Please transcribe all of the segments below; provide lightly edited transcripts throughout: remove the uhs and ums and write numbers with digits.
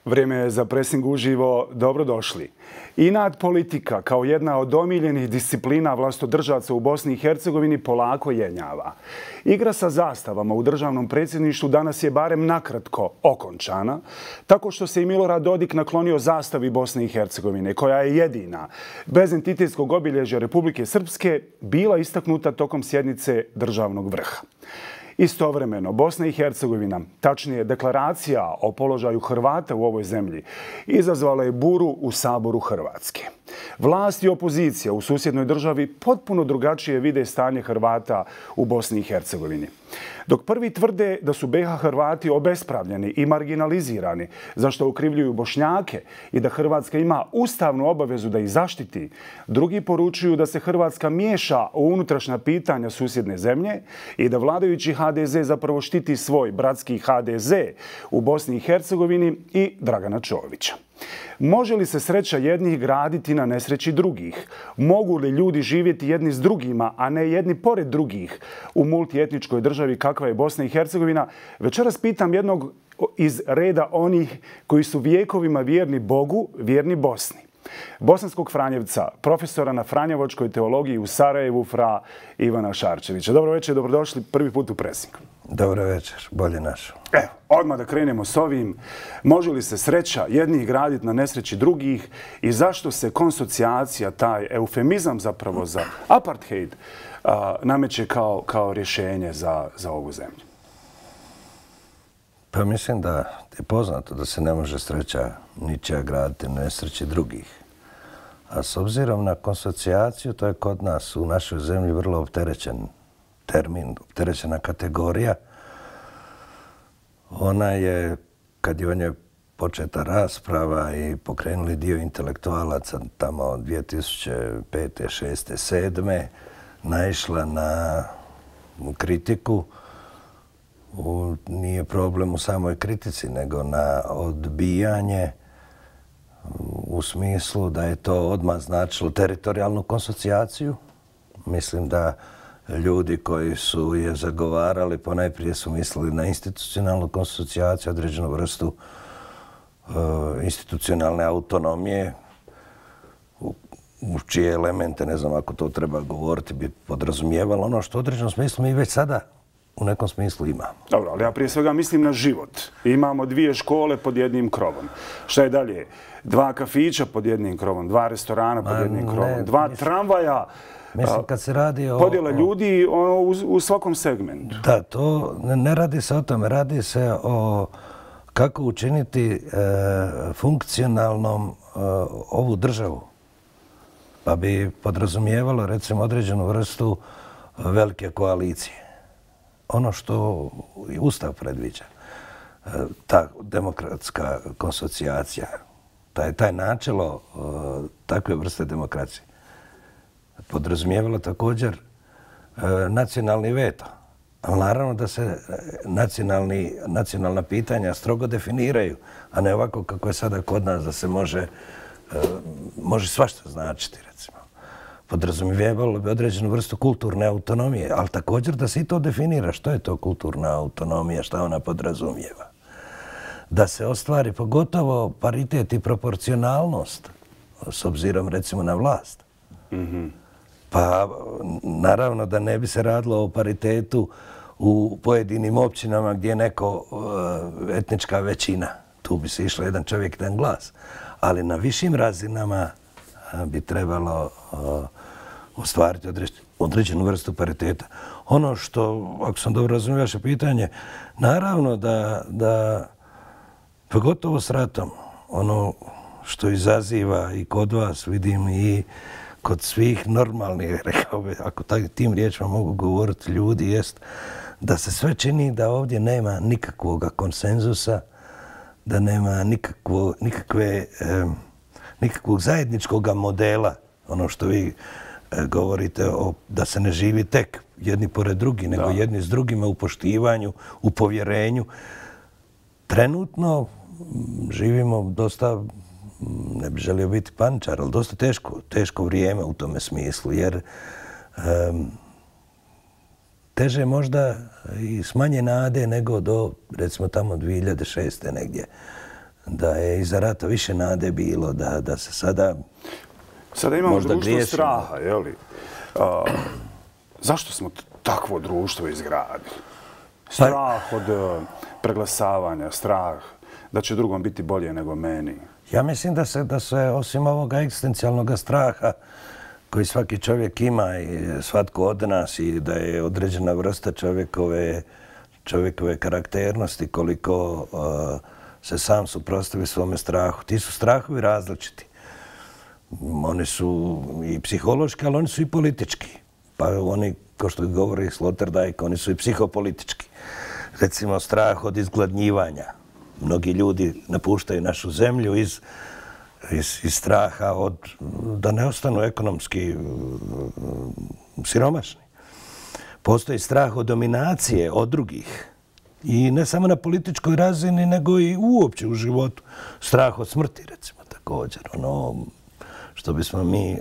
Vrijeme je za presing uživo. Dobrodošli. Inat politika kao jedna od omiljenih disciplina vlastodržaca u Bosni i Hercegovini polako jenjava. Igra sa zastavama u državnom predsjedništvu danas je barem nakratko okončana, tako što se i Milorad Dodik naklonio zastavi Bosne i Hercegovine, koja je jedina, bez entitetskog obilježja Republike Srpske, bila istaknuta tokom sjednice državnog vrha. Istovremeno, Bosna i Hercegovina, tačnije deklaracija o položaju Hrvata u ovoj zemlji, izazvala je buru u Saboru Hrvatske. Vlast i opozicija u susjednoj državi potpuno drugačije vide stanje Hrvata u Bosni i Hercegovini. Dok prvi tvrde da su BiH Hrvati obespravljeni i marginalizirani, za što ukrivljuju Bošnjake i da Hrvatska ima ustavnu obavezu da ih zaštiti, drugi poručuju da se Hrvatska miješa u unutrašnja pitanja susjedne zemlje i da vladajući HDZ zapravo štiti svoj bratski HDZ u Bosni i Hercegovini i Dragana Čovića. Može li se sreća jednih graditi na nesreći drugih? Mogu li ljudi živjeti jedni s drugima, a ne jedni pored drugih u multietničkoj državi kakva je Bosna i Hercegovina? Večeras pitam jednog iz reda onih koji su vijekovima vjerni Bogu, vjerni Bosni. Bosanskog Franjevca, profesora na Franjevačkoj teologiji u Sarajevu, fra Ivana Šarčevića. Dobro večer, dobrodošli prvi put u Presing. Dobro večer, bolje našo. Evo, odmah da krenemo s ovim. Može li se sreća jednih graditi na nesreći drugih i zašto se konsocijacija, taj eufemizam zapravo za apartheid, nameće kao rješenje za ovu zemlju? Pa mislim da je poznato da se ne može sreća ničija graditi na nesreći drugih. A s obzirom na konsocijaciju, to je kod nas u našoj zemlji vrlo opterećen termin, opterećena kategorija. Ona je, kad je o njoj početa rasprava i pokrenuli dio intelektualaca tamo od 2005. 6. 7. naišla na kritiku. Nije problem u samoj kritici, nego na odbijanje u smislu da je to odmah značilo teritorijalnu konsocijaciju. Mislim da ljudi koji su je zagovarali ponajprije su mislili na institucionalnu konsocijaciju, određenu vrstu institucionalne autonomije, u čije elemente, ne znam ako to treba govoriti, bi podrazumijevalo ono što u određenom smislu mi već sada u nekom smislu imamo. Dobro, ali ja prije svega mislim na život. Imamo 2 škole pod jednim krovom. Šta je dalje? 2 kafića pod jednim krovom, 2 restorana pod jednim krovom, 2 tramvaja. Mislim, kad se radi o podjela ljudi u svakom segmentu. Da, to ne radi se o tome. Radi se o kako učiniti funkcionalnom ovu državu. Pa bi podrazumijevalo, recimo, određenu vrstu velike koalicije. Ono što i Ustav predviđa, ta demokratska konsocijacija, taj načelo takve vrste demokracije, podrazumijevalo također nacionalni veto. Ali naravno da se nacionalna pitanja strogo definiraju, a ne ovako kako je sada kod nas da se može svašta značiti, recimo. Podrazumijevalo bi određenu vrstu kulturne autonomije, ali također da se i to definira što je to kulturna autonomija, šta ona podrazumijeva. Da se ostvari pogotovo paritet i proporcionalnost s obzirom recimo na vlast. Pa naravno da ne bi se radilo o paritetu u pojedinim općinama gdje je neko etnička većina. Tu bi se išlo jedan čovjek, jedan glas. Ali na višim razinama bi trebalo ostvariti određenu vrstu pariteta. Ono što, ako sam dobro razumio vaše pitanje, naravno da pogotovo s ratom, ono što izaziva i kod vas, vidim i kod svih normalnih, rekao bi, ako tim riječima mogu govoriti ljudi, jest da se sve čini da ovdje nema nikakvog konsenzusa, da nema nikakvog zajedničkog modela, ono što vi govorite da se ne živi tek jedni pored drugi, nego jedni s drugima u poštivanju, u povjerenju. Trenutno živimo dosta, ne bih želio biti paničar, ali dosta teško vrijeme u tome smislu, jer teže možda i s manje nade nego do, recimo tamo 2006. negdje. da je iza rata više nade bilo, da se sada imamo možda društvo griješimo. straha, je li? Zašto smo takvo društvo izgradili? Strah od preglasavanja, strah da će drugom biti bolje nego meni. Ja mislim da se osim ovoga egzistencijalnog straha koji svaki čovjek ima i svatko od nas i da je određena vrsta čovjekove karakternosti koliko se sam suprotstavi svome strahu. Ti su strahovi različiti. Oni su i psihološki, ali oni su i politički. Pa oni, kao što govori Sloterdijk, oni su i psihopolitički. Recimo, strah od izgladnjivanja. Mnogi ljudi napuštaju našu zemlju iz straha da ne ostanu ekonomski siromašni. Postoji strah od dominacije od drugih. I ne samo na političkoj razini, nego i uopće u životu. Strah od smrti, recimo, također. Ono što bismo mi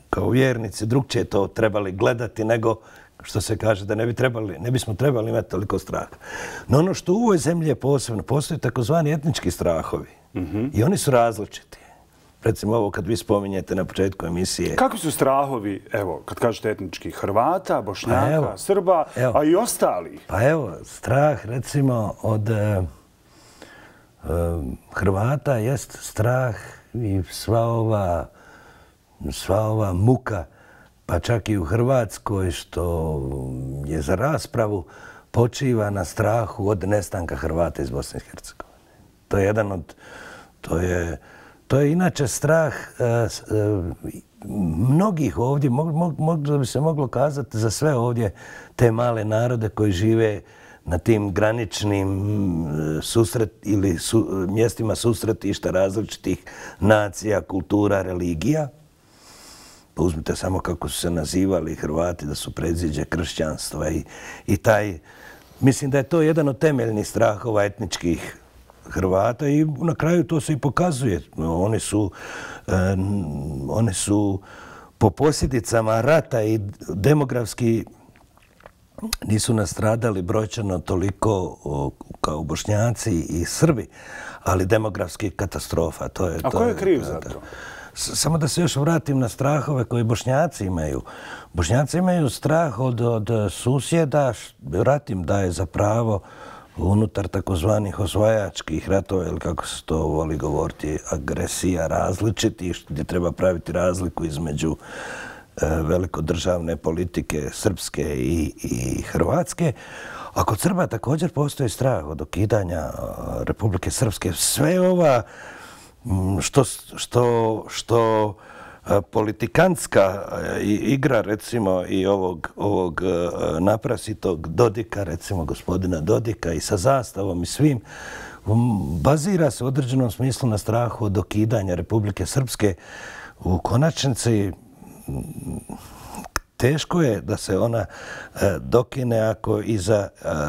kao vjernici drugčije to trebali gledati nego što se kaže da ne bismo trebali imati toliko straha. No ono što u ovoj zemlji je posebno, postoje takozvani etnički strahovi. I oni su različiti. Recimo ovo kad vi spominjete na početku emisije. Kakvi su strahovi, evo, kad kažete etnički, Hrvata, Bošnjaka, Srba, a i ostalih? Pa evo, strah recimo od Hrvata jest strah i sva ova muka, pa čak i u Hrvatskoj, što je za raspravu, počiva na strahu od nestanka Hrvata iz Bosne i Hercegovine. To je jedan od... To je inače strah mnogih ovdje, možda bi se moglo kazati za sve ovdje te male narode koji žive na tim graničnim mjestima susretišta različitih nacija, kultura, religija. Pa uzmite samo kako su se nazivali Hrvati, da su predziđe kršćanstva i taj... Mislim da je to jedan od temeljnih strahova etničkih Hrvata i na kraju to se i pokazuje. Oni su po posljedicama rata i demografski nisu nastradali brojčano toliko kao Bošnjaci i Srbi, ali demografski katastrofa. A ko je kriv za to? Samo da se još vratim na strahove koje Bošnjaci imaju. Bošnjaci imaju strah od susjeda, rat im daje za pravo unutar takozvanih osvajačkih ratova, ili kako se to voli govoriti, agresija različitih, gdje treba praviti razliku između velikodržavne politike srpske i hrvatske. A kod Srba također postoji strah od okidanja Republike Srpske. Sve ova što politikantska igra, recimo, i ovog naprasitog Dodika, recimo gospodina Dodika, i sa zastavom i svim, bazira se u određenom smislu na strahu od okidanja Republike Srpske. U konačnici teško je da se ona dokine ako iza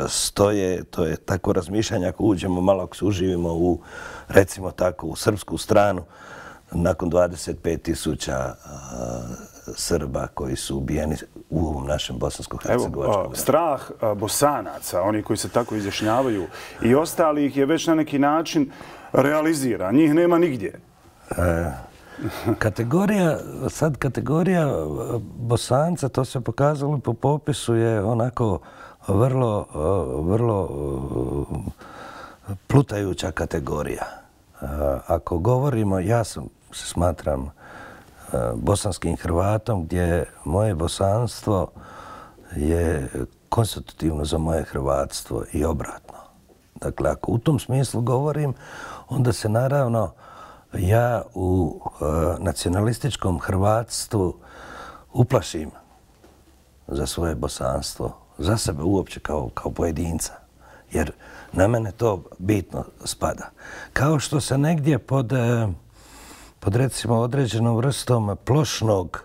stoje, to je tako razmišljanje, ako uđemo malo, ako se uživimo u, recimo tako, u srpsku stranu, nakon 25.000 Srba koji su ubijeni u ovom našem bosansko-hercegovačkom ratu. Strah Bosanaca, oni koji se tako izjašnjavaju, i ostalih je već na neki način realiziran. Njih nema nigdje. Kategorija Bosanca, to se pokazalo po popisu, je onako vrlo plutajuća kategorija. Ako govorimo, ja se smatram bosanskim Hrvatom, gdje moje bosanstvo je konstitutivno za moje hrvatstvo i obratno. Dakle, ako u tom smislu govorim, onda se naravno ja u nacionalističkom hrvatstvu uplašim za svoje bosanstvo, za sebe uopće kao pojedinca. Jer na mene to bitno spada. Kao što se negdje pod recimo određenom vrstom plošnog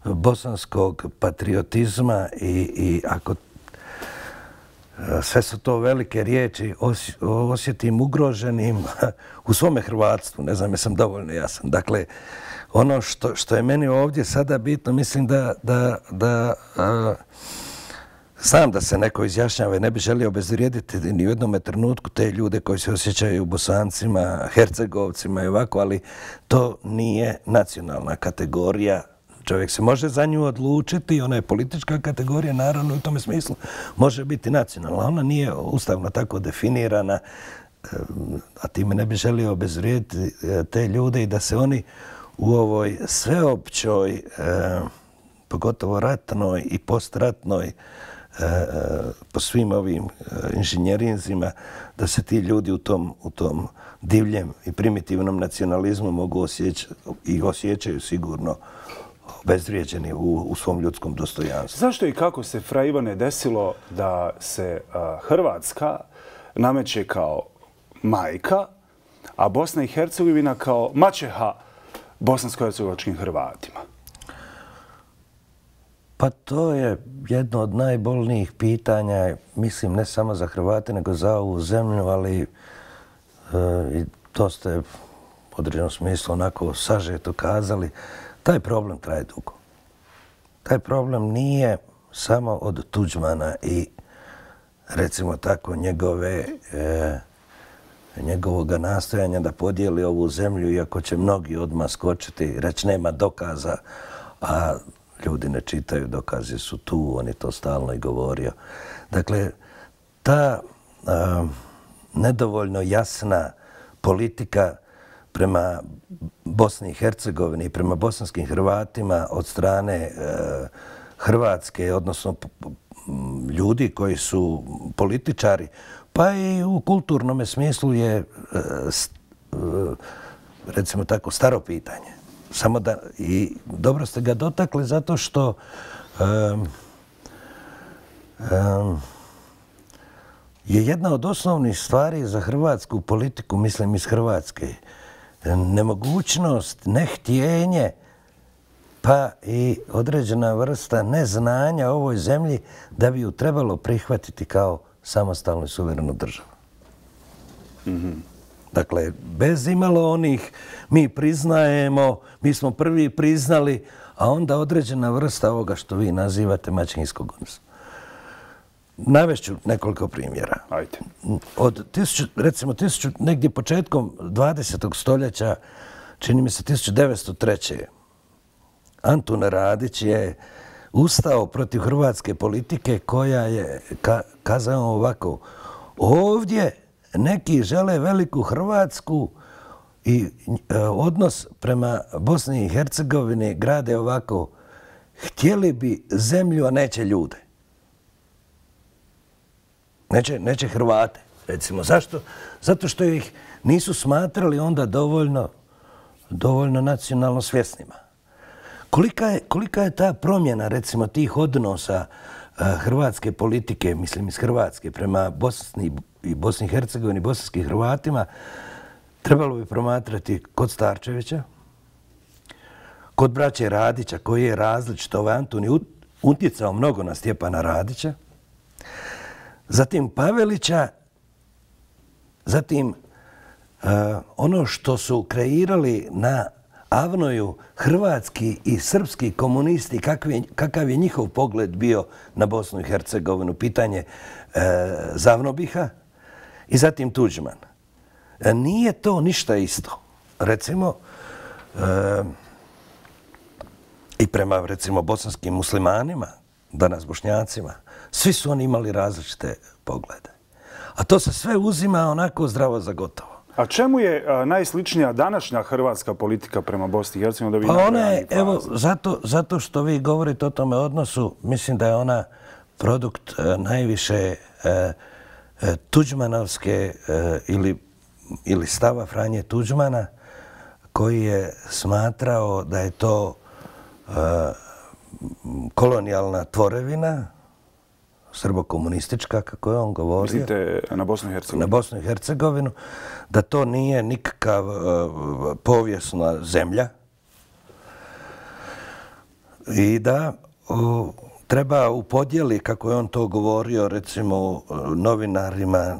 bosanskog patriotizma i ako sve su to velike riječi, osjetim ugroženim u svome hrvatstvu. Ne znam, jesam dovoljno jasan. Dakle, ono što je meni ovdje sada bitno, mislim da znam da se neko izjašnjava i ne bi želio obezvrijediti ni u jednom trenutku te ljude koji se osjećaju Bosancima, Hercegovcima i ovako, ali to nije nacionalna kategorija. Čovjek se može za nju odlučiti, ona je politička kategorija, naravno u tome smislu može biti nacionalna. Ona nije ustavno tako definirana, a time ne bi želio obezvrijediti te ljude i da se oni u ovoj sveopćoj, pogotovo ratnoj i postratnoj, po svim ovim inženjerinzima, da se ti ljudi u tom divljem i primitivnom nacionalizmu mogu osjećati i osjećaju sigurno obezvrijeđeni u svom ljudskom dostojanstvu. Zašto i kako se, fra Ivane, desilo da se Hrvatska nameće kao majka, a Bosna i Hercegovina kao maćeha bosansko-hercegovačkim Hrvatima? Pa to je jedno od najbolnijih pitanja, mislim, ne samo za Hrvate, nego za ovu zemlju, ali i to ste u određenom smislu onako sažeto kazali. Taj problem traje dugo. Taj problem nije samo od Tuđmana i, recimo tako, njegovoga nastojanja da podijeli ovu zemlju, iako će mnogi odmah skočiti i reći nema dokaza, a ljudi ne čitaju, dokazi su tu, on je to stalno i govorio. Dakle, ta nedovoljno jasna politika prema Bosni i Hercegovini i prema bosanskim Hrvatima od strane Hrvatske, odnosno ljudi koji su političari, pa i u kulturnom smislu je, recimo tako, staro pitanje. Samo da, i dobro ste ga dotakli zato što je jedna od osnovnih stvari za hrvatsku politiku, mislim iz Hrvatske, nemogućnost, nehtjenje, pa i određena vrsta neznanja o ovoj zemlji da bi ju trebalo prihvatiti kao samostalnu i suverenu državu. Dakle, bez imalo onih, mi priznajemo, mi smo prvi priznali, a onda određena vrsta ovoga što vi nazivate maćehinskog odnosa. Navešću nekoliko primjera. Ajde. Recimo, negdje početkom 20. stoljeća, čini mi se 1903. Antun Radić je ustao protiv hrvatske politike koja je kazao ovako: ovdje neki žele veliku Hrvatsku i odnos prema Bosni i Hercegovini grade ovako: htjeli bi zemlju, a neće ljude. Neće Hrvate, recimo. Zašto? Zato što ih nisu smatrali onda dovoljno nacionalno svjesnima. Kolika je ta promjena, recimo, tih odnosa hrvatske politike, mislim iz Hrvatske, prema Bosni i Hercegovini, bosanskim Hrvatima, trebalo bi promatrati kod Starčevića, kod braće Radića, koji je različit. Ovaj Antun je utjecao mnogo na Stjepana Radića, zatim Pavelića, zatim ono što su kreirali na Avnoju hrvatski i srpski komunisti, kakav je njihov pogled bio na Bosnu i Hercegovinu, pitanje Zavnobiha, i zatim Tuđman. Nije to ništa isto. Recimo, i prema, recimo, bosanskim muslimanima, danas Bošnjacima, svi su oni imali različite poglede. A to se sve uzima onako zdravo za gotovo. A čemu je najsličnija današnja hrvatska politika prema Bosni i Hercegovini? Pa ona je, evo, zato što vi govorite o tome odnosu, mislim da je ona produkt najviše tuđmanovske ili stava Franje Tuđmana, koji je smatrao da je to kolonijalna tvorevina, srbokomunistička, kako je on govorio. Mislite na Bosnu i Hercegovinu? Na Bosnu i Hercegovinu, da to nije nikakav povijesna zemlja i da treba u podjeli, kako je on to govorio, recimo novinarima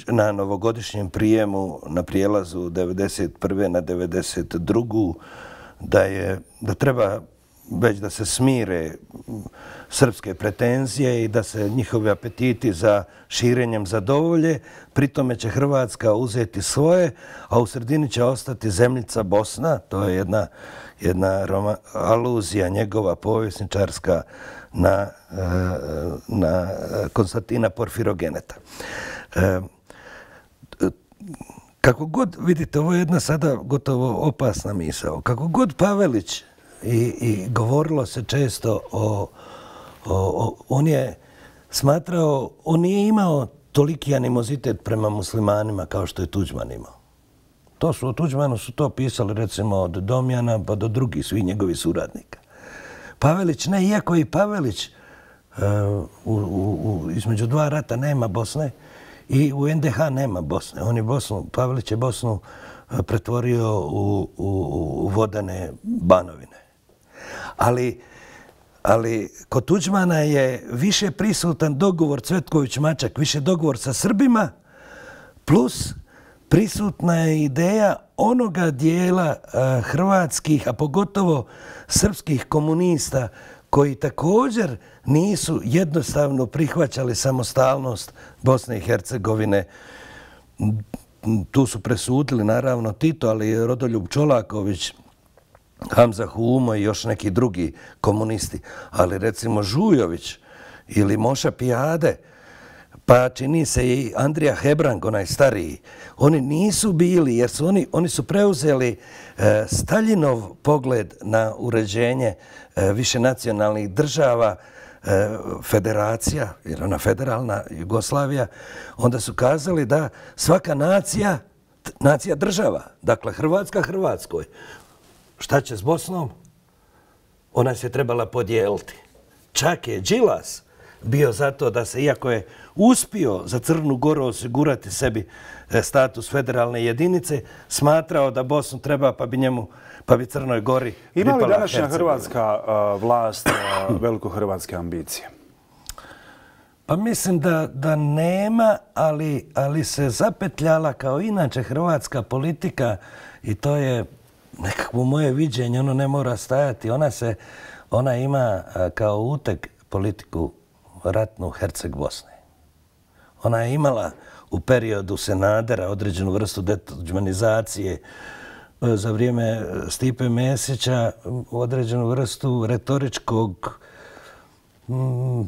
na novogodišnjem prijemu na prijelazu 1991. na 1992. da treba već da se smire srpske pretenzije i da se njihovi apetiti za širenjem zadovolje. Pritome će Hrvatska uzeti svoje, a u sredini će ostati zemljica Bosna. To je jedna aluzija njegova povjesničarska na Konstantina Porfirogeneta. Kako god, vidite, ovo je jedna sada gotovo opasna misao, kako god Pavelić i govorilo se često on je smatrao, on nije imao toliki animozitet prema muslimanima kao što je Tuđman imao. O Tuđmanu su to pisali recimo od Domjana pa do drugih svih njegovih suradnika. Pavelić ne, iako i Pavelić između dva rata nema Bosne i u NDH nema Bosne. Pavelić je Bosnu pretvorio u vodene banovine. Ali kod Tuđmana je više prisutan dogovor Cvetković-Mačak, više dogovor sa Srbima, plus prisutna je ideja onoga dijela hrvatskih, a pogotovo srpskih komunista koji također nisu jednostavno prihvaćali samostalnost Bosne i Hercegovine. Tu su presudili naravno Tito, ali i Rodoljub Čolaković, Hamza Humo i još neki drugi komunisti. Ali recimo Žujović ili Moša Pijade, pa čini se i Andrija Hebrang, onaj stariji, oni nisu bili, jer su oni su preuzeli Staljinov pogled na uređenje višenacionalnih država, federacija, jer ona federalna Jugoslavija, onda su kazali da svaka nacija država, dakle Hrvatska Hrvatskoj, šta će s Bosnom? Ona se trebala podijeliti. Čak je Đilas bio zato da se, iako je uspio za Crnu Goru osigurati sebi status federalne jedinice, smatrao da Bosnu treba pa bi Crnoj Gori pripala Hercegovina. Ima li današnja hrvatska vlast velikohrvatske ambicije? Pa mislim da nema, ali se zapetljala kao inače hrvatska politika i to je nekakvo moje viđenje, ono ne mora stajati. Ona ima kao uteg politiku ratnu Herceg Bosne. Ona je imala u periodu Senadera određenu vrstu detuđmanizacije, za vrijeme Stipe Mesića određenu vrstu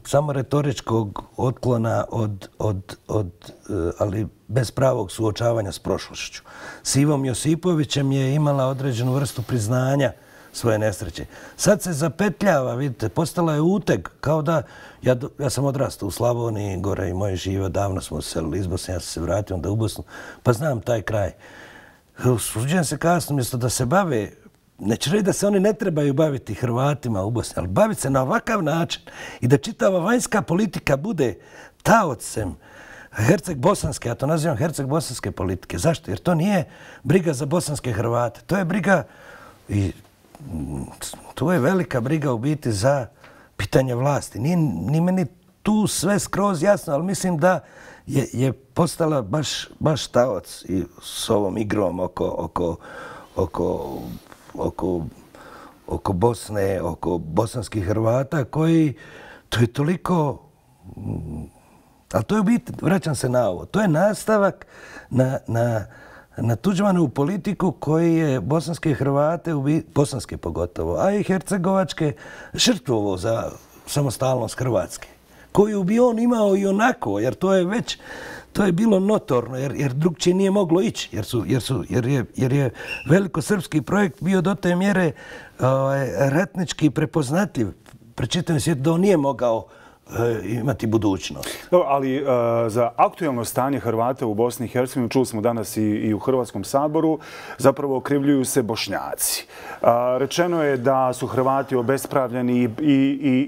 samo retoričkog otklona ali bez pravog suočavanja s prošlošću. S Ivom Josipovićem je imala određenu vrstu priznanja svoje nesreće. Sad se zapetljava, vidite, postala je uteg, kao da, ja sam odrastao u Slavoniji, gore i moje žive, davno smo se selili iz Bosne, ja sam se vratio onda u Bosnu, pa znam taj kraj. Usuđujem se kasno, umjesto da se bave, neću reći da se oni ne trebaju baviti Hrvatima u Bosni, ali baviti se na ovakav način i da čitava vanjska politika bude taocem Herceg-bosanske, ja to nazivam Herceg-bosanske politike. Zašto? Jer to nije briga za bosanske Hrvate, to je briga i to je velika briga u biti za pitanje vlasti. Nije meni tu sve skroz jasno, ali mislim da je postala baš taoc i s ovom igrom oko Bosne, oko bosanskih Hrvata koji, to je toliko, ali to je u biti, vraćam se na ovo, to je nastavak na Tuđmanovu politiku koji je bosanske Hrvate, bosanske pogotovo, a i hercegovačke, žrtvovao za samostalnost Hrvatske, koju bi on imao i onako, jer to je bilo notorno, jer drugčije nije moglo ići, jer je velikosrpski projekt bio do te mjere ratnički prepoznatljiv pred čitavim svijetom da on nije mogao imati budućnost. Ali za aktuelno stanje Hrvata u Bosni i Hercegovini, čuli smo danas i u Hrvatskom saboru, zapravo okrivljuju se Bošnjaci. Rečeno je da su Hrvati obespravljeni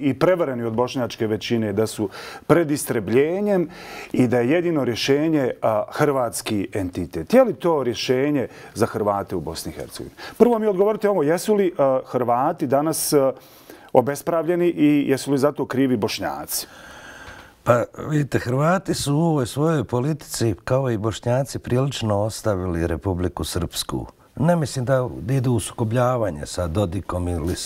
i prevareni od bošnjačke većine, da su pred istrebljenjem i da je jedino rješenje hrvatski entitet. Je li to rješenje za Hrvate u Bosni i Hercegovini? Prvo mi odgovorite ovo, jesu li Hrvati danas obespravljeni i jesu li zato krivi Bošnjaci? Pa vidite, Hrvati su u ovoj svojoj politici, kao i Bošnjaci, prilično ostavili Republiku Srpsku Ne mislim da idu u sukobljavanje sa Dodikom ili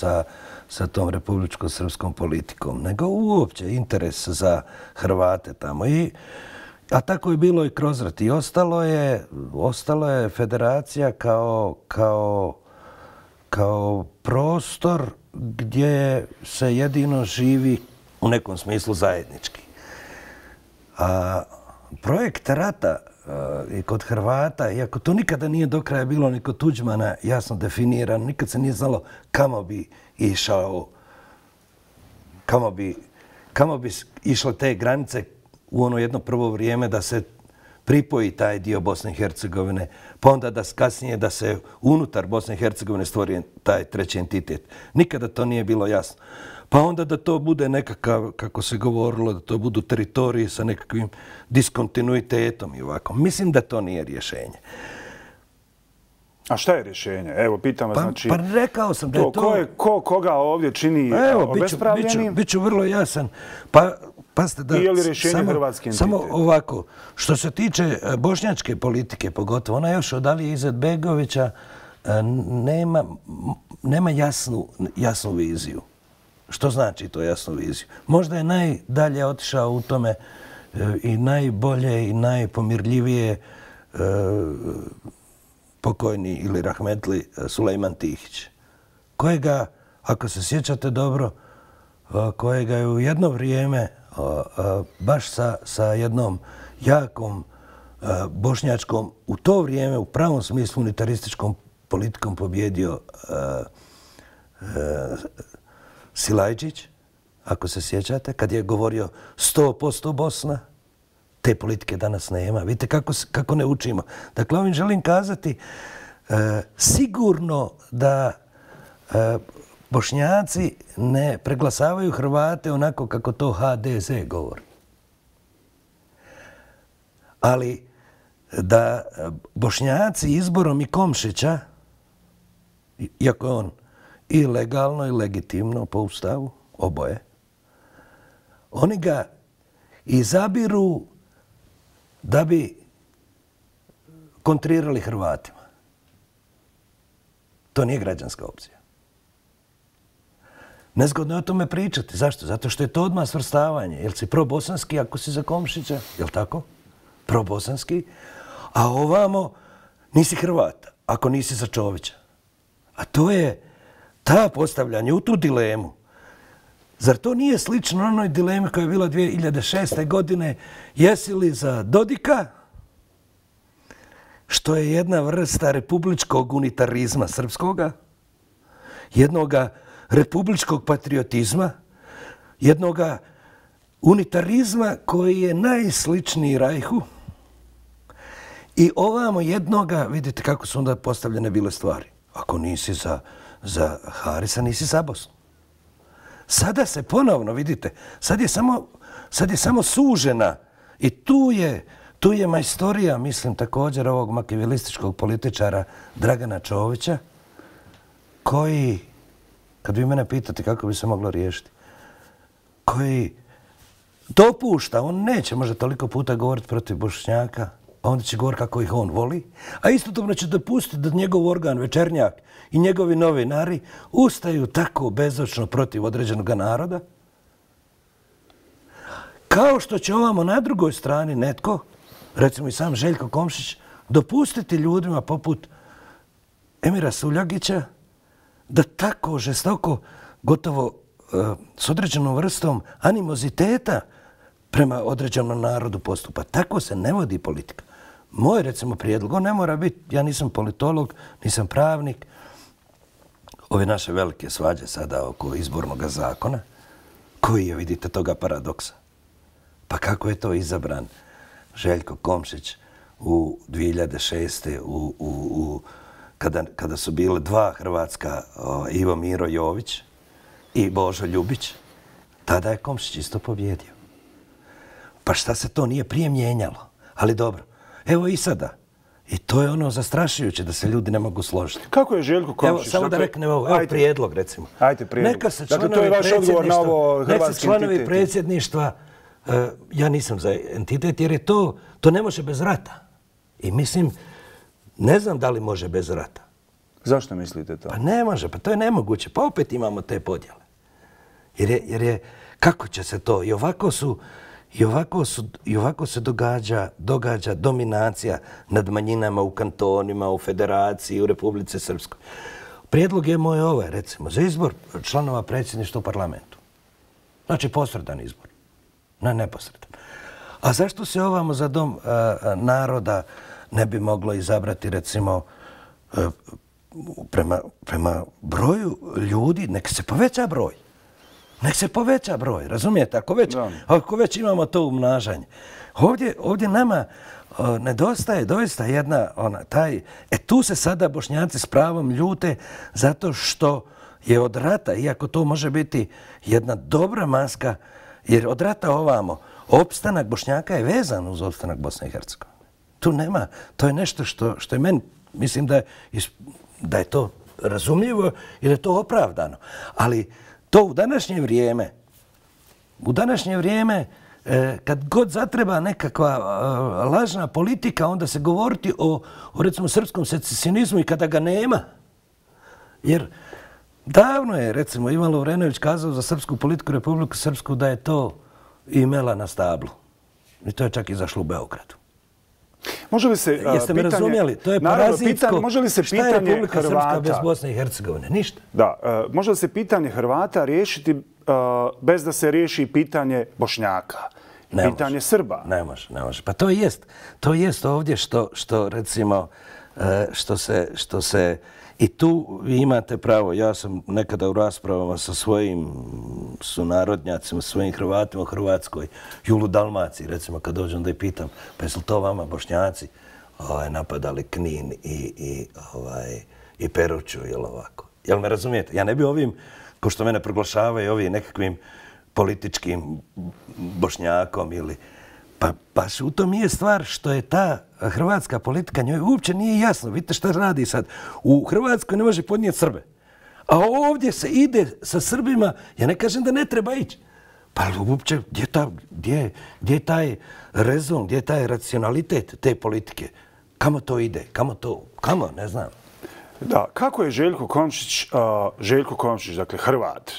sa tom republičko-srpskom politikom, nego uopće interes za Hrvate tamo. A tako je bilo i kroz rat. I ostalo je federacija kao prostor gdje se jedino živi u nekom smislu zajednički. A projekt rata i kod Hrvata, iako to nikada nije do kraja bilo ni kod Tuđmana jasno definirano, nikad se nije znalo kamo bi išao, kamo bi išle te granice u ono jedno prvo vrijeme da se pripoji taj dio Bosne i Hercegovine, pa onda da kasnije da se unutar Bosne i Hercegovine stvori taj treći entitet. Nikada to nije bilo jasno. Pa onda da to bude nekakav, kako se govorilo, da to budu teritoriji sa nekakvim diskontinuitetom i ovako. Mislim da to nije rješenje. A šta je rješenje? Evo, pitam vas, znači... Pa rekao sam da je to... Koga ovdje čini obespravljenim? Biću vrlo jasan. Pa, pazite da... I je li rješenje hrvatski entitet? Samo ovako, što se tiče bošnjačke politike, pogotovo, ona još od Alije Izetbegovića nema jasnu viziju. Što znači to jasnu viziju? Možda je najdalje otišao u tome i najbolje i najpomirljivije pokojni ili rahmetli Sulejman Tihić, kojega, ako se sjećate dobro, kojega je u jedno vrijeme baš sa jednom jakom bošnjačkom, u to vrijeme u pravom smislu unitarističkom politikom pobjedio Silajđić, ako se sjećate, kad je govorio 100% Bosna. Te politike danas nema. Vidite kako ne učimo. Dakle, ovim želim kazati sigurno da Bošnjaci ne preglasavaju Hrvate onako kako to HDZ govori. Ali da Bošnjaci izborom i Komšića, iako je on i legalno i legitimno po ustavu, oboje, oni ga izabiru da bi kontrirali Hrvatima. To nije građanska opcija. Nezgodno je o tome pričati. Zašto? Zato što je to odmah svrstavanje. Jel si probosanski ako si za Komšića? Jel tako? Probosanski. A ovamo nisi Hrvat ako nisi za Čovića. A to je ta postavljanje u tu dilemu. Zar to nije slično onoj dilemi koja je bila 2006. godine? Jesi li za Dodika, što je jedna vrsta republičkog unitarizma srpskoga, jednoga republičkog patriotizma, jednoga unitarizma koji je najsličniji Rajhu i ovamo jednoga, vidite kako su onda postavljene bile stvari. Ako nisi za Harisa, nisi za Bosnu. Sada se ponovno, vidite, sad je samo sužena i tu je majstorija, mislim, također ovog makijavelističkog političara Dragana Čovića, koji, kad vi mene pitate kako bi se moglo riješiti, koji dopušta, on neće možda toliko puta govoriti protiv Bošnjaka, a onda će govoriti kako ih on voli, a istodobno će dopustiti da njegov organ Večernjak i njegovi novinari ustaju tako bezočno protiv određenog naroda, kao što će ovamo na drugoj strani netko, recimo i sam Željko Komšić, dopustiti ljudima poput Emira Suljagića da tako žestoko, gotovo s određenom vrstom animoziteta prema određenom narodu postupa. Tako se ne vodi politika. Moj, recimo, prijedlog, on ne mora biti, ja nisam politolog, nisam pravnik, ove naše velike svađe sada oko izbornog zakona, koji je, vidite, toga paradoksa. Pa kako je to izabran Željko Komšić u 2006. Kada su bile dva hrvatska, Ivo Miro Jović i Božo Ljubić, tada je Komšić isto pobjedio. Pa šta se to nije prije mijenjalo? Ali dobro, evo i sada. I to je ono zastrašujuće da se ljudi ne mogu složiti. Kako je Željko Komšić? Evo, samo da reknem ovo, evo prijedlog, recimo. Ajde, prijedlog. Neka se dakle, to je vaš odgovor na ovo hrvatski članovi predsjedništva, ja nisam za entitet, jer je to ne može bez rata. I mislim, ne znam da li može bez rata. Zašto mislite to? Pa ne može, pa to je nemoguće. Pa opet imamo te podjele. Jer je, kako će se to? I ovako se događa dominacija nad manjinama u kantonima, u federaciji, u Republici Srpskoj. Prijedlog je moj ovaj, recimo, za izbor članova predsjedništva u parlamentu. Znači, posredan izbor. Ne, neposredan. A zašto se ovamo za dom naroda ne bi moglo izabrati, recimo, prema broju ljudi, nek se poveća broj. Nek se poveća broj, razumijete? Ako već imamo to umnažanje. Ovdje nama nedostaje doista jedna, tu se sada Bošnjaci s pravom ljute zato što je od rata, iako to može biti jedna dobra maska, jer od rata ovamo, opstanak Bošnjaka je vezan uz opstanak Bosne i Hercegovine. Tu nema, to je nešto što je meni, mislim da je to razumljivo i da je to opravdano. Ali to u današnje vrijeme, kad god zatreba nekakva lažna politika, onda se govoriti o recimo, srpskom secesionizmu i kada ga nema. Jer davno je, recimo, Ivan Lovrenović kazao za srpsku politiku Republiku Srpsku da je to imela na stablu. I to je čak izašlo u Beogradu. Može li se Jeste me razumjeli? To je parazitsko. Šta je Republika Srpska bez Bosne i Hercegovine? Ništa. Da. Može li se pitanje Hrvata riješiti bez da se riješi pitanje Bošnjaka? Pitanje Srba? Ne može. Pa to jest ovdje što recimo, što se i tu vi imate pravo. Ja sam nekada u raspravama sa svojim sunarodnjacima, svojim Hrvatima u Hrvatskoj, Julu Dalmaciji, recimo, kad dođem da ih pitam, pa jesu li to vama Bošnjaci napadali Knin i Peruću, jel ovako? Jel me razumijete? Ja ne bi ovim, ko što mene proglašavaju ovim nekakvim političkim Bošnjakom ili... Pa baš u tom je stvar što je ta hrvatska politika, njoj uopće nije jasno. Vidite šta radi sad. U Hrvatskoj ne može podnijeti Srbe. A ovdje se ide sa Srbima, ja ne kažem da ne treba ići. Pa uopće gdje je taj rezon, gdje je taj racionalitet te politike? Kamo to ide? Kamo? Ne znam. Da, kako je Željko Komšić, dakle Hrvat,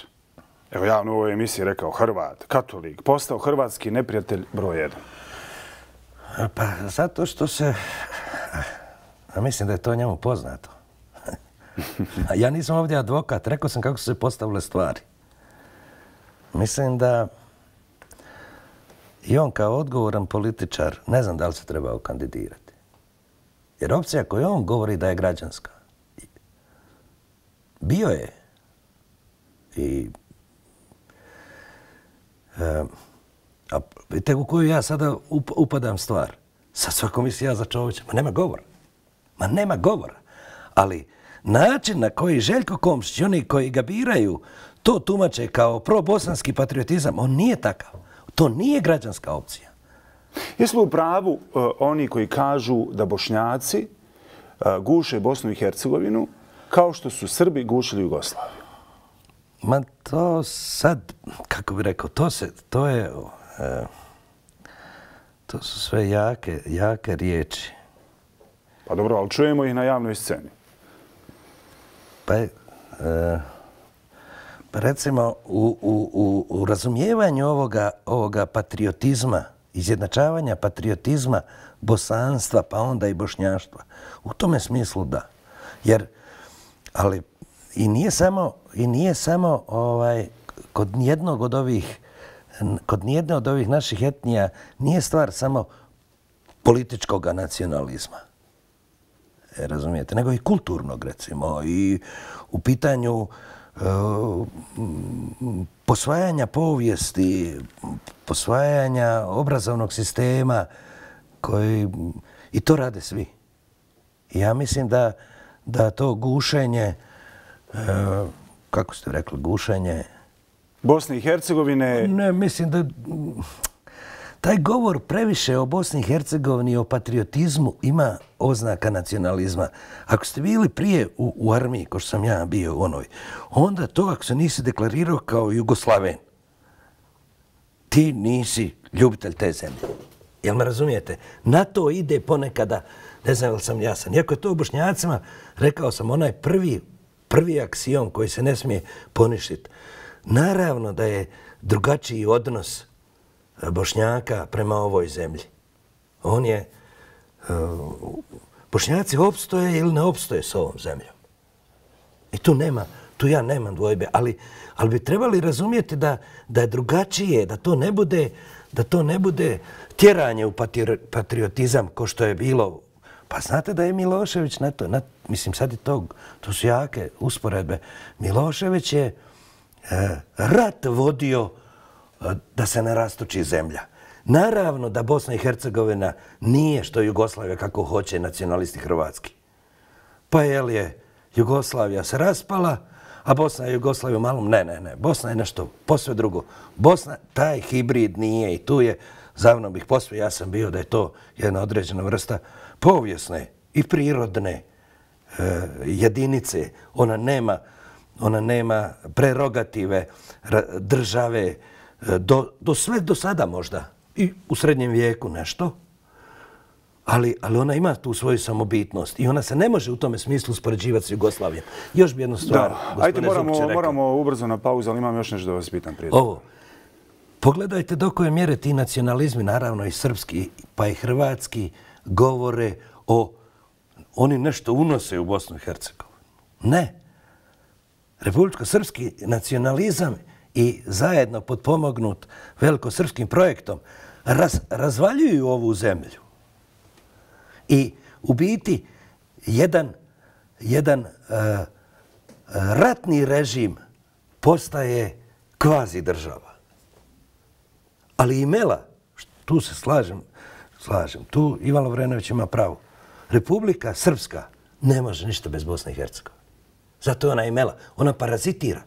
evo javno u ovoj emisiji rekao Hrvat, katolik, postao hrvatski neprijatelj broj 1? Pa zato što se... Mislim da je to njemu poznato. Ja nisam ovdje advokat, rekao sam kako su se postavile stvari. Mislim da i on kao odgovoran političar ne znam da li se trebao kandidirati. Jer opcija koju on govori da je građanska, bio je i a vidite u koju ja sada upadam stvar. Sad svako misli ja za Čovića. Ma nema govora. Ali način na koji Željko Komšić i oni koji ga biraju to tumače kao probosanski patriotizam, on nije takav. To nije građanska opcija. Jesu li u pravu oni koji kažu da Bošnjaci guše Bosnu i Hercegovinu kao što su Srbi gušili Jugoslaviju? Ma to sad, kako bih rekao, to su sve jake riječi. Pa dobro, ali čujemo ih na javnoj sceni. Pa recimo, u razumijevanju ovoga patriotizma, izjednačavanja patriotizma, bosanstva, pa onda i bošnjaštva, u tome smislu da. Jer, ali i nije samo kod nijedne od ovih naših etnija nije stvar samo političkog nacionalizma. Razumijete? Nego i kulturnog, recimo. I u pitanju posvajanja povijesti, posvajanja obrazovnog sistema i to rade svi. Ja mislim da to gušenje, kako ste rekli, gušenje Bosne i Hercegovine... Ne, mislim da taj govor previše o Bosni i Hercegovini i o patriotizmu ima oznaka nacionalizma. Ako ste bili prije u armiji, ko što sam ja bio u onoj, onda to ako se nisi deklarirao kao Jugoslaven, ti nisi ljubitelj te zemlje. Jel me razumijete? Na to ide ponekada Ne znam li sam jasan. Iako je to u Bošnjacima, rekao sam, onaj prvi aksiom koji se ne smije poništiti. Naravno da je drugačiji odnos Bošnjaka prema ovoj zemlji. Bošnjaci opstoje ili ne opstoje s ovom zemljom. I tu ja nemam dvojbe, ali bi trebali razumjeti da je drugačije, da to ne bude tjeranje u patriotizam ko što je bilo. Pa znate da je Milošević na to, mislim sad i to su jake usporedbe. Milošević je rat vodio da se ne rastoči zemlja. Naravno da Bosna i Hercegovina nije što Jugoslavija kako hoće nacionalisti hrvatski. Pa je Jugoslavija se raspala, a Bosna i Jugoslavija malom, ne. Bosna je nešto posve drugo. Bosna, taj hibrid nije i tu je, zavno bih posve, ja sam bio da je to jedna određena vrsta povijesne i prirodne jedinice. Ona nema prerogative države do sada možda i u srednjem vijeku nešto, ali ona ima tu svoju samobitnost i ona se ne može u tome smislu uspoređivati s Jugoslavijom. Još bi jednu stvar, gospodine Zupče, rekao. Moramo ubrzo na pauzu, ali imam još nešto da vas pitam prije. Pogledajte do koje mjere ti nacionalizmi, naravno i srpski, pa i hrvatski, govore oni nešto unose u Bosnu i Hercegovinu. Ne. Republičko-srpski nacionalizam i zajedno potpomognut velikosrpskim projektom razvaljuju ovu zemlju. I u biti jedan ratni režim postaje kvazi država. Ali imela, tu se slažem, tu Ivan Lovrenović ima pravo. Republika Srpska ne može ništa bez Bosne i Hercegovine. Zato je ona imela. Ona parazitira.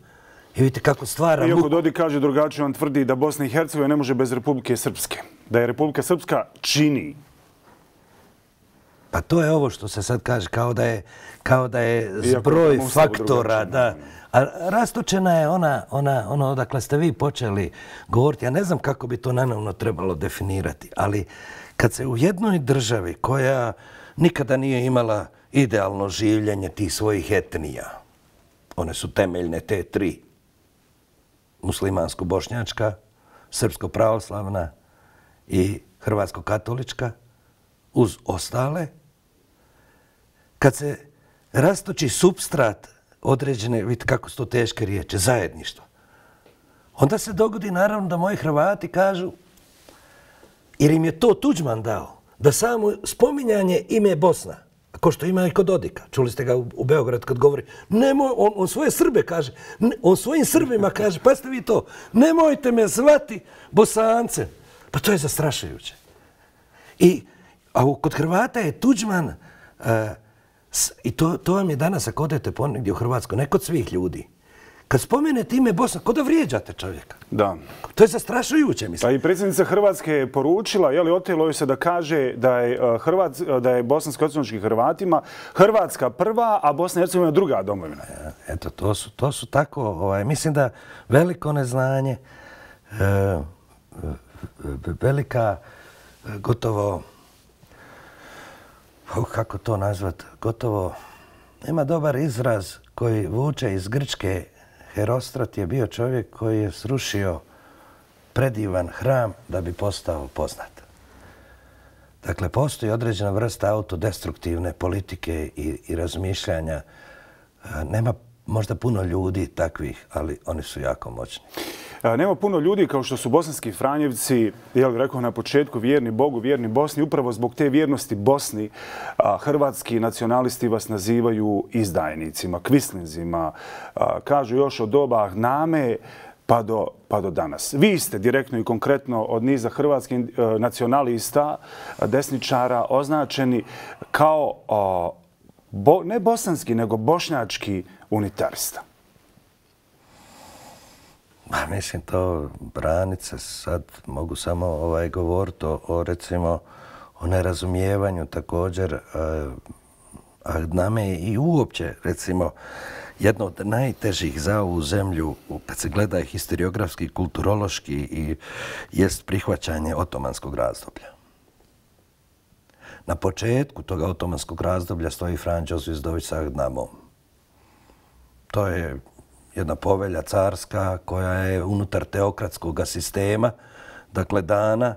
I vidite kako stvara... Iako Dodik kaže drugačije, on tvrdi da Bosna i Hercegovina ne može bez Republike Srpske. Da je Republika Srpska čini. Pa to je ovo što se sad kaže, kao da je zbroj faktora. A rastočena je ono odakle ste vi počeli govoriti. Ja ne znam kako bi to naravno trebalo definirati, ali kad se u jednoj državi koja nikada nije imala idealno življenje tih svojih etnija, one su temeljne te tri, muslimansko-bošnjačka, srpsko-pravoslavna i hrvatsko-katolička, uz ostale, kad se rastoči supstrat određene, vidite kako su to teške riječi, zajedništva, onda se dogodi naravno da moji Hrvati kažu, jer im je to Tuđman dao, da samo spominjanje ime Bosna, ko što ima i kod Dodika, čuli ste ga u Beograd kad govori, nemoj, on svoje Srbe kaže, on svojim Srbima kaže, pa ste vi to, nemojte me zvati Bosancem. Pa to je zastrašujuće. A kod Hrvata je Tuđman, i to vam je danas ako odete ponegdje u Hrvatskoj, ne kod svih ljudi. Kad spomenete ime Bosna, ko da vrijeđate čovjeka? Da. To je zastrašujuće, mislim. Pa i predsjednica Hrvatske je poručila, otelo joj se da kaže da je bosansko-hercegovačkim Hrvatima Hrvatska prva, a Bosna i Hercegovina druga domovina. Eto, to su tako, mislim da veliko neznanje, velika, gotovo, kako to nazvat, gotovo, nema dobar izraz koji vuče iz Grčke. Herostrat je bio čovjek koji je srušio predivan hram da bi postao poznat. Dakle, postoji određena vrsta autodestruktivne politike i razmišljanja. Nema možda puno ljudi takvih, ali oni su jako moćni. Nema puno ljudi kao što su bosanski Franjevci, rekao na početku, vjerni Bogu, vjerni Bosni. Upravo zbog te vjernosti Bosni, hrvatski nacionalisti vas nazivaju izdajnicima, kvislinzima. Kažu još od doba Name pa do danas. Vi ste direktno i konkretno od niza hrvatskih nacionalista, desničara, označeni kao ne bosanski, nego bošnjački unitarista. Mislim, to branice sad mogu samo govoriti recimo, o nerazumijevanju također. A nama je i uopće, recimo, jedno od najtežih za ovu zemlju, kad se gleda historiografski, kulturološki, jest prihvaćanje otomanskog razdoblja. Na početku toga otomanskog razdoblja stoji Franjo Zvizdović sa Agnamom. To je jedna povelja carska koja je unutar teokratskog sistema, dakle dana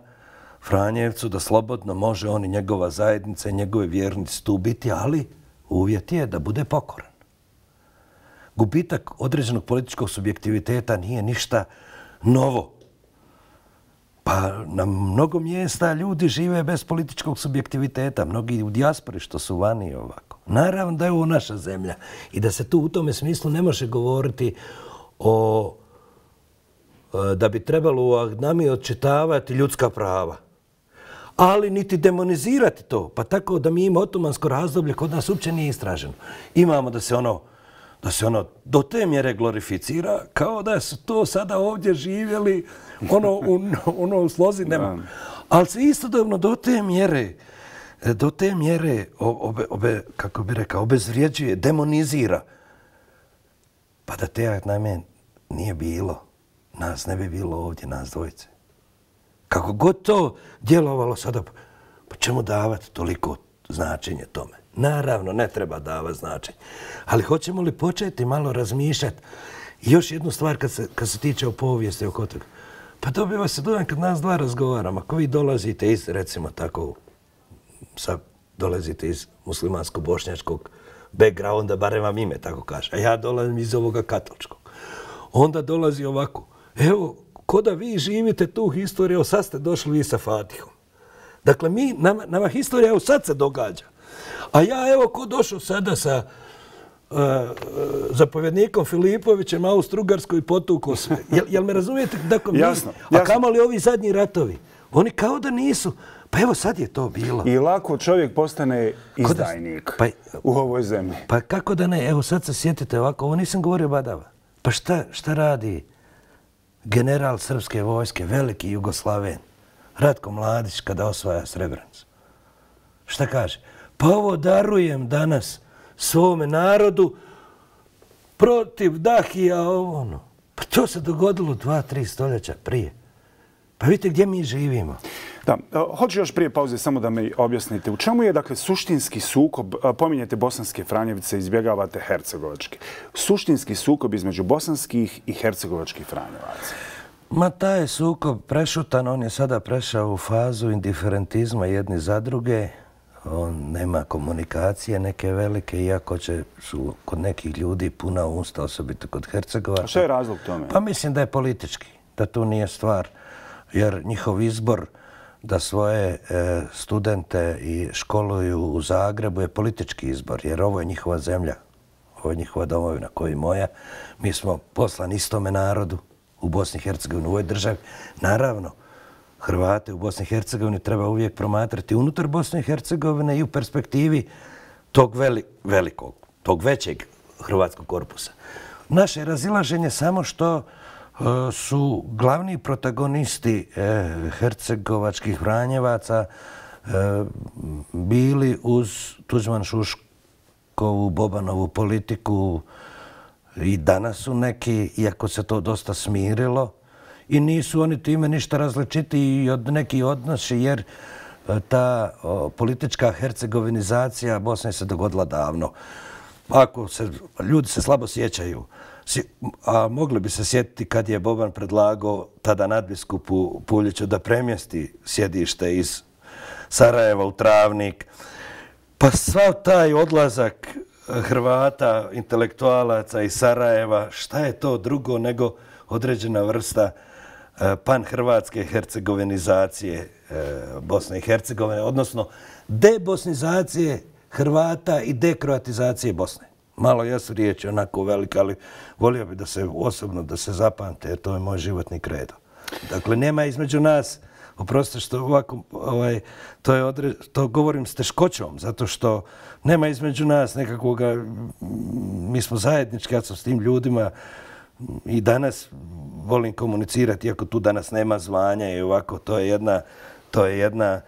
Franjevcu da slobodno može on i njegova zajednica i njegove vjernici tu biti, ali uvjet je da bude pokoran. Gubitak određenog političkog subjektiviteta nije ništa novo. Pa na mnogo mjesta ljudi žive bez političkog subjektiviteta, mnogi u dijaspori što su vani ovako. Naravno da je ovo naša zemlja i da se tu u tome smislu ne može govoriti da bi trebalo u Agnami odčitavati ljudska prava. Ali niti demonizirati to, pa tako da mi imamo otomansko razdoblje kod nas uopće nije istraženo. Imamo da se ono do te mjere glorificira kao da su to sada ovdje živjeli u slozi nema. Ali se istodobno do te mjere kako bi rekao, obezvrijeđuje, demonizira. Pa da te Agname nije bilo, nas ne bi bilo ovdje, nas dvojice. Kako god to djelovalo sada, pa čemu davati toliko značenje tome? Naravno, ne treba davati značenje. Ali hoćemo li početi malo razmišljati? I još jednu stvar kad se tiče o povijesti oko toga. Pa dobiva se dojam kad nas dva razgovaramo. Ako vi dolazite iz, recimo tako, dolazite iz muslimansko-bošnjačkog backgrounda, barem vam ime tako kaže, a ja dolazim iz ovoga katoličkog. Onda dolazi ovako, evo, ko da vi živite tu historiju, evo sad ste došli vi sa Fatihom. Dakle, nama historija evo sad se događa. A ja evo ko došao sada sa zapovjednikom Filipovićem, Austro-Ugarskoj i potukao sve. Jel me razumijete? Dakle, jasno. A kamoli ovi zadnji ratovi? Oni kao da nisu. Pa evo sad je to bilo. I lako čovjek postane izdajnik u ovoj zemlji. Pa kako da ne? Evo sad se sjetite ovako, ovo nisam govorio badava. Pa šta radi general srpske vojske, veliki Jugoslaven, Ratko Mladić kada osvaja Srebrenicu? Šta kaže? Pa ovo darujem danas svome narodu protiv Dahija, ovo ono. Pa to se dogodilo 2-3 stoljeća prije. Pa vidite gdje mi živimo. Da, hoću još prije pauze samo da mi objasnite. U čemu je, dakle, suštinski sukob, pominjete bosanske Franjevice, izbjegavate hercegovačke, suštinski sukob između bosanskih i hercegovačkih Franjevaca? Ma taj je sukob prešutan, on je sada prešao u fazu indiferentizma jedni za druge. On nema komunikacije neke velike, iako su kod nekih ljudi puna usta, osobito kod Hercegovaca. A što je razlog tome? Pa mislim da je politički, da tu nije stvar, jer njihov izbor da svoje studente i školuju u Zagrebu je politički izbor, jer ovo je njihova zemlja, ovo je njihova domovina, koja je moja. Mi smo poslani istome narodu u Bosni i Hercegovini, u ovoj državi. Naravno, Hrvate u Bosni i Hercegovini treba uvijek promatrati unutar Bosne i Hercegovine i u perspektivi tog velikog, tog većeg hrvatskog korpusa. Naše razilaženje samo što su glavni protagonisti hercegovačkih Franjevaca bili uz Tuđman-Šuškovu, Bobanovu politiku i danas su neki, iako se to dosta smirilo, i nisu oni time ništa različitiji od nekih odnosi, jer ta politička hercegovinizacija Bosne se dogodila davno. Ljudi se slabo sjećaju, a mogli bi se sjetiti kad je Boban predlagao tada nadbiskupu Puljiću da premjesti sjedište iz Sarajeva u Travnik. Pa sav taj odlazak Hrvata, intelektualaca iz Sarajeva, šta je to drugo nego određena vrsta pan-hrvatske hercegovinizacije Bosne i Hercegovine, odnosno debosnizacije Hrvata i dekroatizacije Bosne. Malo jesu riječi onako velike, ali volio bi da se osobno da se zapamte, jer to je moj životni kredo. Dakle, nema između nas, oprostite što ovako, to govorim s teškoćom, zato što nema između nas nekakvoga, mi smo zajednički, ja sam s tim ljudima i danas volim komunicirati, iako tu danas nema zvanja i ovako, to je jedna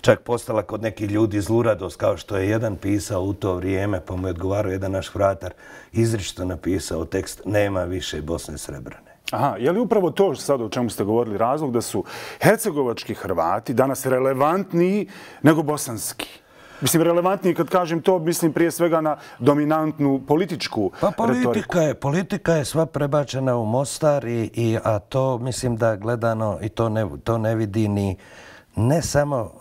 čak postala kod nekih ljudi zluradost, kao što je jedan pisao u to vrijeme, pa mu je odgovarao jedan naš fratar, izričito napisao tekst "Nema više Bosne Srebrene". Aha, je li upravo to sad o čemu ste govorili razlog da su hercegovački Hrvati danas relevantniji nego bosanski? Mislim, relevantnije kad kažem to, mislim prije svega na dominantnu političku retoriku. Politika je sva prebačena u Mostar, a to mislim da gledano i to ne vidi ni ne samo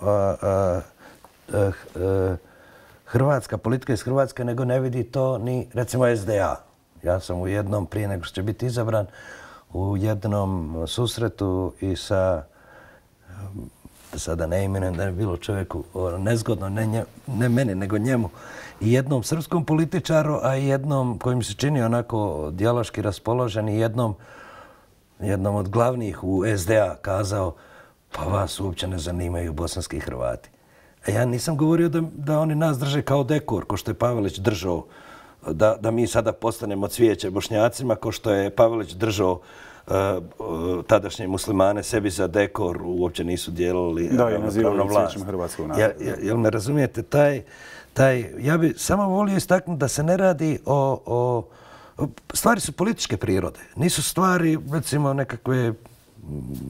hrvatska politika iz Hrvatske, nego ne vidi to ni recimo SDA. Ja sam u jednom, prije nego što će biti izabran, u jednom susretu i sa, sada ne imenujem da je bilo čovjeku nezgodno, ne meni, nego njemu, i jednom srpskom političaru, a i jednom koji mi se čini onako dijaloški raspoložen i jednom od glavnih u SDA kazao, pa vas uopće ne zanimaju bosanski Hrvati. A ja nisam govorio da oni nas drže kao dekor, ko što je Pavelić držao, da mi sada postanemo cvijeće Bošnjacima, ko što je Pavelić držao tadašnje muslimane sebi za dekor, uopće nisu dijelili pravno vlast. Jel me razumijete? Ja bi samo volio istaknuti da se ne radi o... Stvari su političke prirode. Nisu stvari, recimo, nekakve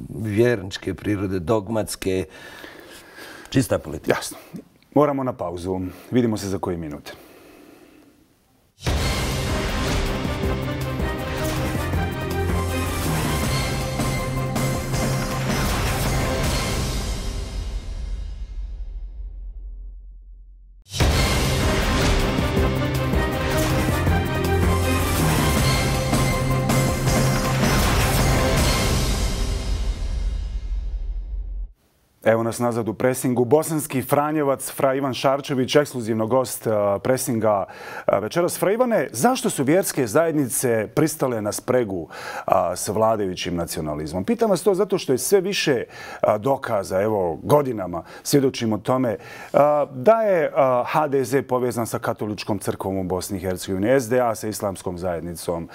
vjerničke prirode, dogmatske, čista politika. Jasno. Moramo na pauzu. Vidimo se za koji minut. Evo nas nazad u presingu. Bosanski Franjevac, fra Ivan Šarčević, ekskluzivno gost presinga večeras. Fra Ivane, zašto su vjerske zajednice pristale na spregu s vladajućim nacionalizmom? Pitam vas to zato što je sve više dokaza, evo godinama svjedočimo tome, da je HDZ povezan sa katoličkom crkvom u Bosni i Hercegovini, SDA sa islamskom zajednicom,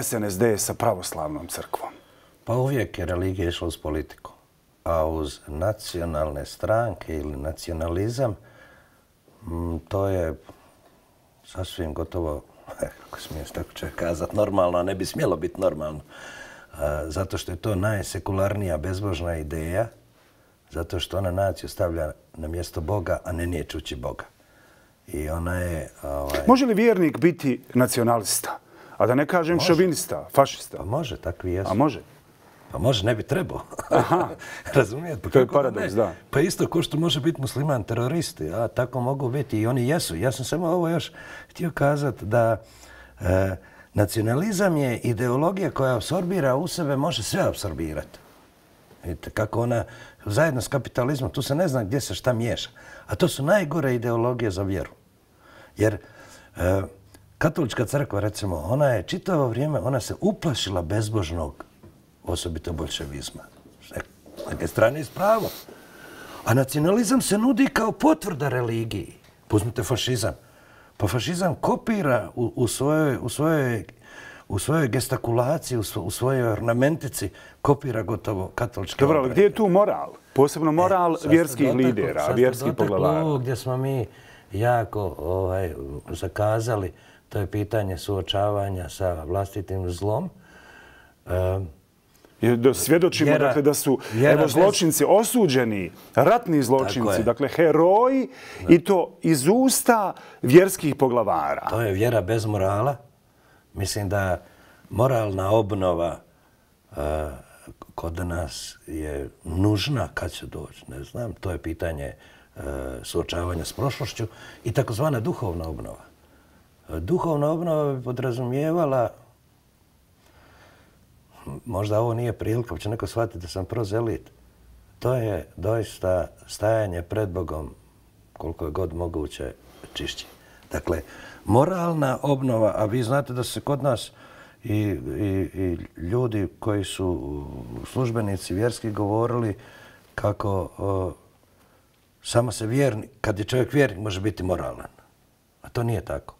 SNSD sa pravoslavnom crkvom. Pa uvijek je religija išla uz politiku. A uz nacionalne stranke ili nacionalizam, to je sasvim gotovo, kako smije tako čovjek kazati, normalno, a ne bi smjelo biti normalno. Zato što je to najsekularnija bezbožna ideja, zato što ona naciju stavlja na mjesto Boga, a ne niječući Boga. I ona je... Može li vjernik biti nacionalista? A da ne kažem šovinista, fašista? Pa može, takvi jesu. A može? Pa može, ne bi trebao. Razumijete? To je paradoks, da. Pa isto ko što može biti musliman teroristi, a tako mogu biti i oni jesu. Ja sam samo ovo još htio kazati da nacionalizam je ideologija koja apsorbira u sebe, može sve apsorbirati. Vidite, kako ona zajedno s kapitalizmom, tu se ne zna gdje se šta miješa. A to su najgore ideologije za vjeru. Jer katolička crkva, recimo, ona je čitavo vrijeme, ona se uplašila bezbožnog, osobito bolševizma. S neke strane je spravo. A nacionalizam se nudi kao potvrda religiji. Uzmite fašizam. Pa fašizam kopira u svojoj gestakulaciji, u svojoj ornamentici, kopira gotovo katoličke obrede. Dobro, ali gdje je tu moral? Posebno moral vjerskih lidera, vjerskih poglavara. Ovo gdje smo mi jako zakazali, to je pitanje suočavanja sa vlastitim zlom. Svjedočimo dakle, da su zločinci osuđeni, ratni zločinci, dakle heroji i to iz usta vjerskih poglavara. To je vjera bez morala. Mislim da moralna obnova kod nas je nužna kad će doći, ne znam. To je pitanje suočavanja s prošlošću i takozvana duhovna obnova. Duhovna obnova bi podrazumijevala, možda ovo nije prilika, pa će neko shvatiti da sam prozelit. To je doista stajanje pred Bogom koliko je god moguće čišće. Dakle, moralna obnova, a vi znate da se kod nas i ljudi koji su službenici vjerski govorili kako samo se vjernik, kad je čovjek vjernik, može biti moralan. A to nije tako.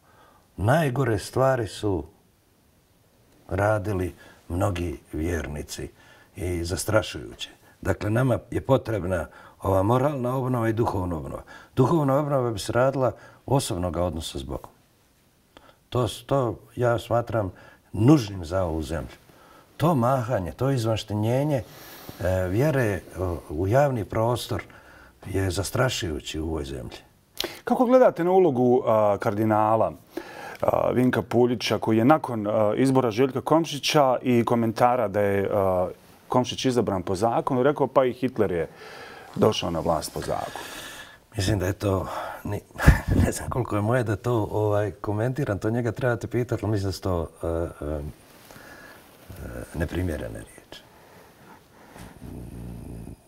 Najgore stvari su radili mnogi vjernici i zastrašujuće. Dakle, nama je potrebna ova moralna obnova i duhovna obnova. Duhovna obnova bi se radila osobnog odnosa s Bogom. To ja smatram nužnim za ovu zemlju. To mahanje, to izvanštenjenje vjere u javni prostor je zastrašujući u ovoj zemlji. Kako gledate na ulogu kardinala Vinka Puljića, koji je nakon izbora Željka Komšića i komentara da je Komšić izabran po zakonu, rekao pa i Hitler je došao na vlast po zakonu? Mislim da je to, ne znam koliko je moje da to komentiram, to njega trebate pitati, ali mislim da su to neprimjerene riječi.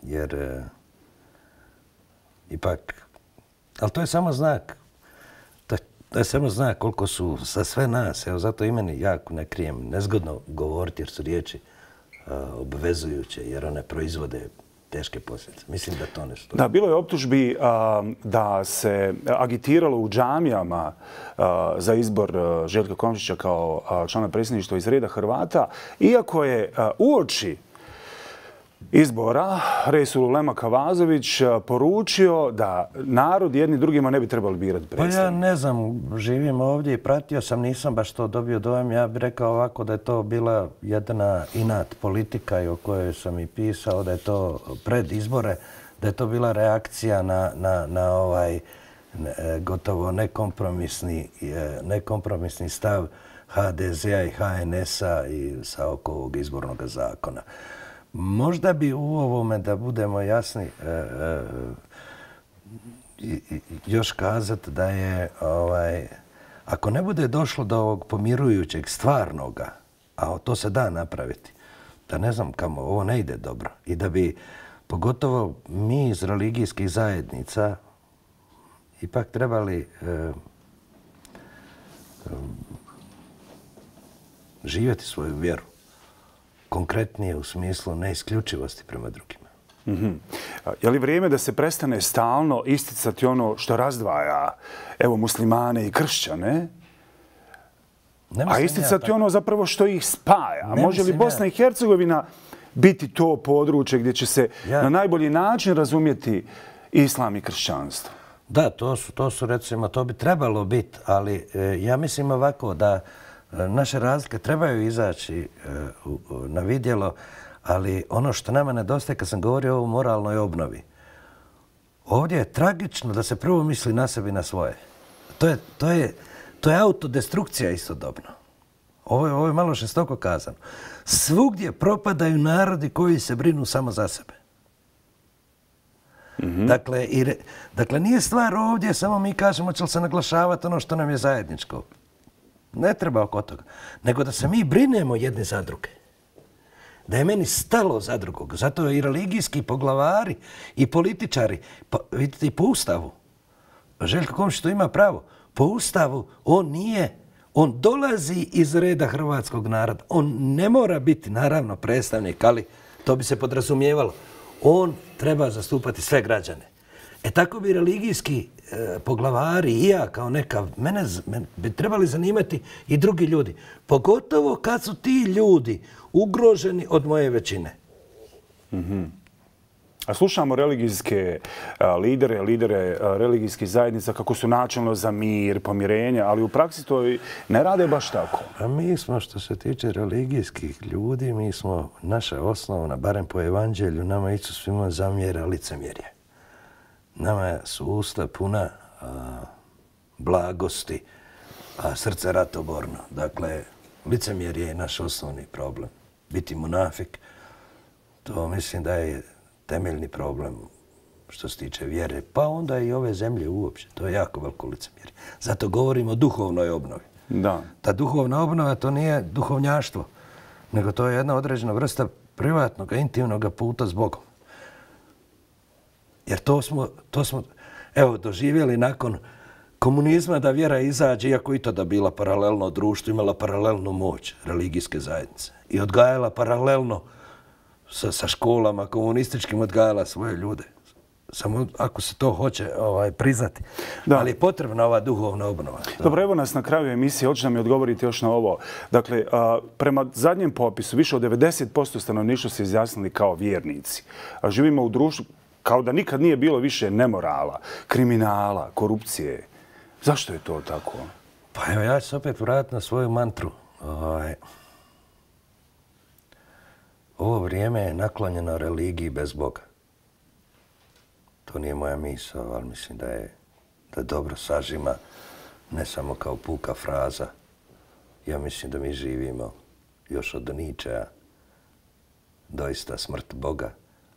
Jer ipak, ali to je samo znak. To je samo znak koliko su za sve nas, evo zato i meni jako ne krijem, nezgodno govoriti jer su riječi obvezujuće, jer one proizvode teške posljedice. Mislim da to ne stoji. Da, bilo je optužbi da se agitiralo u džamijama za izbor Željka Komšića kao člana predsjedništva iz reda Hrvata, iako je uoči izbora Resululema Kavazović poručio da narod jedni drugima ne bi trebali birati predstavnika. Pa ja ne znam, živim ovdje i pratio sam, nisam baš to dobio dojam. Ja bih rekao ovako da je to bila jedna inat politika i o kojoj sam i pisao, da je to pred izbore, da je to bila reakcija na ovaj gotovo nekompromisni stav HDZ-a i HNS-a i sa oko ovog izbornog zakona. Možda bi u ovome, da budemo jasni, još kazati da je, ako ne bude došlo do ovog pomirujućeg stvarnoga, a to se da napraviti, da ne znam kamo, ovo ne ide dobro. I da bi, pogotovo mi iz religijskih zajednica, ipak trebali živjeti svoju vjeru. Konkretnije u smislu neisključivosti prema drugima. Je li vrijeme da se prestane stalno isticati ono što razdvaja muslimane i kršćane, a isticati ono zapravo što ih spaja? Može li Bosna i Hercegovina biti to područje gdje će se na najbolji način razumjeti islam i kršćanstvo? Da, to su recimo, to bi trebalo biti, ali ja mislim ovako da naše razlike trebaju izaći na vidjelo, ali ono što nama nedostaje, kad sam govorio o moralnoj obnovi, ovdje je tragično da se prvo misli na sebi i na svoje. To je autodestrukcija istodobno. Ovo je malo žestoko kazano. Svugdje propadaju narodi koji se brinu samo za sebe. Dakle, nije stvar ovdje, samo mi kažemo će li se naglašavati ono što nam je zajedničko. Ne treba oko toga. Nego da se mi brinemo jedni za druge. Da je meni stalo za drugog. Zato i religijski poglavari i političari, vidite i po Ustavu, Željko Komšić to ima pravo, po Ustavu on dolazi iz reda hrvatskog naroda. On ne mora biti naravno predstavnik, ali to bi se podrazumijevalo. On treba zastupati sve građane. Tako bi religijski poglavari i ja kao mene bi trebali zanimati i drugi ljudi. Pogotovo kad su ti ljudi ugroženi od moje većine. A slušamo religijske lidere religijskih zajednica kako su načelno za mir, pomirenje, ali u praksi to ne rade baš tako. A mi smo, što se tiče religijskih ljudi, mi smo naša osnovna, barem po evanđelju, nama Isus svima zamjera licemjerje. Nama su usta puna blagosti, a srce ratoborno. Dakle, licemjerje je naš osnovni problem. Biti munafik, to mislim da je temeljni problem što se tiče vjere, pa onda i ove zemlje uopće. To je jako veliko licemjerje. Zato govorimo o duhovnoj obnovi. Da. Ta duhovna obnova to nije duhovnjaštvo, nego to je jedna određena vrsta privatnog, intimnog puta s Bogom. Jer to smo doživjeli nakon komunizma da vjera izađe, iako i tada bila paralelno društvo, imala paralelnu moć religijske zajednice i odgajala paralelno sa školama komunističkim, odgajala svoje ljude. Samo ako se to hoće priznati. Ali je potrebna ova duhovna obnova. Dobro, evo nas na kraju emisije. Hoće da mi odgovoriti još na ovo. Dakle, prema zadnjem popisu, više od 90% stanovništva se izjasnili kao vjernici. A živimo u društvu kao da nikad nije bilo više nemorala, kriminala, korupcije. Zašto je to tako? Pa evo, ja ću se opet vratiti na svoju mantru. Ovo vrijeme je naklonjeno religiji bez Boga. To nije moja misao, ali mislim da je da dobro sažima, ne samo kao puka fraza. Ja mislim da mi živimo još od Ničea, doista smrt Boga,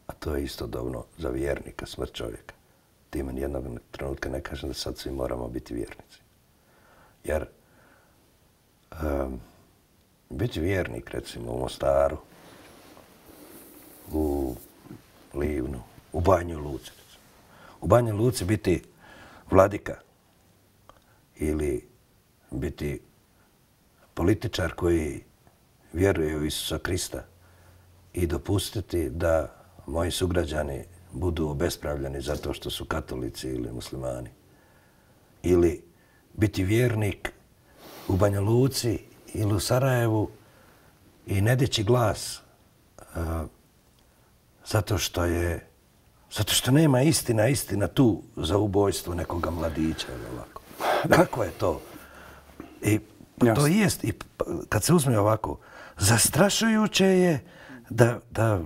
a to je istodobno za vjernika smrt čovjeka. Time nijednog trenutka ne kažem da sad svi moramo biti vjernici. Jer biti vjernik, recimo, u Mostaru, u Livnu, u Banju Luci. U Banju Luci biti vladika ili biti političar koji vjeruje u Isusa Krista i dopustiti da moji sugrađani budu obespravljeni zato što su katolici ili muslimani. Ili biti vjernik u Banja Luci ili u Sarajevu i ne dići glas zato što nema istina tu za ubojstvo nekoga mladića ili ovako. Kako je to? I to jest, i kad se uzme ovako, zastrašujuće je da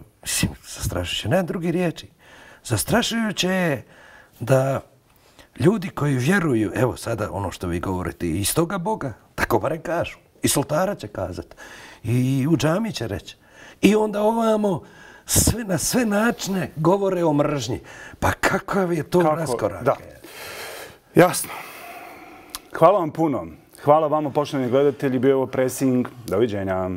zastrašujuće, ne drugi riječi, zastrašujuće je da ljudi koji vjeruju, evo sada ono što vi govorite, iz toga Boga, tako barem kažu, i soltara će kazati, i u džami će reći. I onda ovamo na sve načine govore o mržnji. Pa kakav je to raskorak? Da. Jasno. Hvala vam puno. Hvala vama, poštovani gledatelji, bio ovo Pressing. Doviđenja.